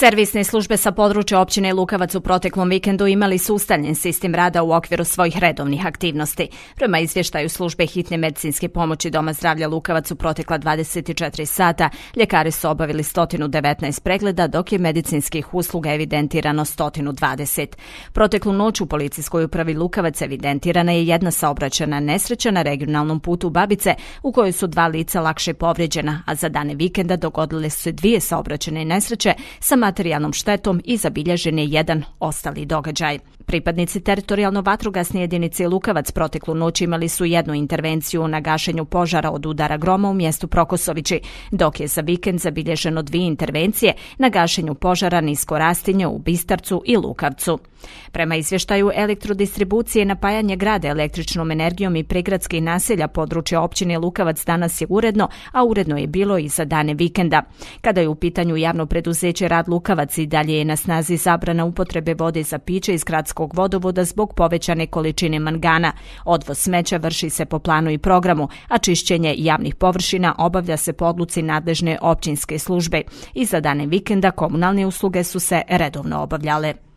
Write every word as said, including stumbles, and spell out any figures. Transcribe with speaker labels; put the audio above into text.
Speaker 1: Servisne službe sa područja općine Lukavac u proteklom vikendu imali su ustaljen sistem rada u okviru svojih redovnih aktivnosti. Prema izvještaju službe hitne medicinske pomoći Doma zdravlja Lukavac u protekla dvadeset četiri sata, ljekari su obavili sto devetnaest pregleda, dok je medicinskih usluga evidentirano sto dvadeset. Proteklu noć u policijskoj upravi Lukavac evidentirana je jedna saobraćajna nesreća na regionalnom putu Babice, u kojoj su dva lica lakše povrijeđena, a za dane vikenda dogodile su se dvije saobraćajne nesreće sa materijalnom štetom i zabilježen je jedan ostali događaj. Pripadnici teritorijalno-vatrogasne jedinice Lukavac proteklu noć imali su jednu intervenciju na gašenju požara od udara groma u mjestu Prokosovići, dok je za vikend zabilježeno dvije intervencije na gašenju požara nisko rastinje u Bistarcu i Lukavcu. Prema izvještaju elektrodistribucije, napajanje grada električnom energijom i prigradskih naselja područja općine Lukavac danas je uredno, a uredno je bilo i za dane vikenda. Kada je u pitanju javno preduzeće Rad Lukavac, i dalje je na snazi zabrana upotrebe vode za piće iz gradskog vodovoda zbog povećane količine mangana. Odvoz smeća vrši se po planu i programu, a čišćenje javnih površina obavlja se po odluci nadležne općinske službe. I za dane vikenda komunalne usluge su se redovno obavljale.